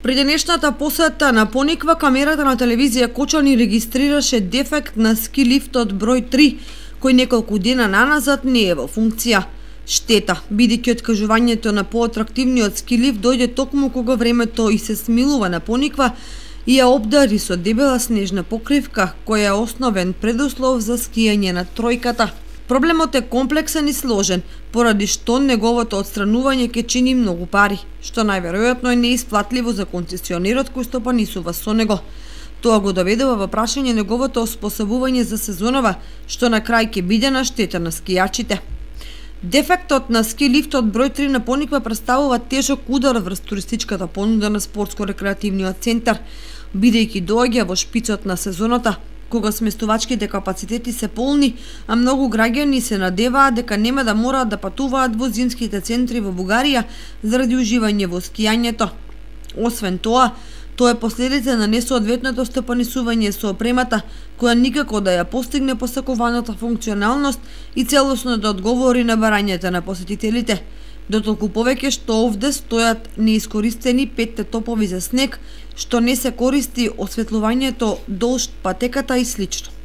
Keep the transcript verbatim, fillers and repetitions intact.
При денешната посета на Пониква, камерата на телевизија Кочани регистрираше дефект на ски лифтот број три, кој неколку дена наназад не е во функција. Штета, бидејќи откажувањето на поатрактивниот ски лифт дојде токму кога времето и се смилува на Пониква и ја обдари со дебела снежна покривка, која е основен предуслов за скијање на тројката. Проблемот е комплексен и сложен, поради што неговото отстранување ќе чини многу пари, што најверојатно е неисплатливо за концесионерот кој стопанисува со него. Тоа го доведува во прашање неговото оспособување за сезонова, што на крај ќе биде на штета на скијачите. Дефектот на ски лифтот број три на Пониква представува тежок удар врз туристичката понуда на спортско-рекреативниот центар, бидејќи доаѓа во шпицот на сезоната, кога сместувачките капацитети се полни, а многу граѓани се надеваат дека нема да мораат да патуваат во зимските центри во Бугарија заради уживање во скијањето. Освен тоа, тоа е последица на несоодветното стопанисување со опремата, која никако да ја постигне посакуваната функционалност и целосно да одговори на барањата на посетителите. Дотолку повеќе што овде стојат неискористени петте топови за снег, што не се користи осветлувањето долж патеката и слично.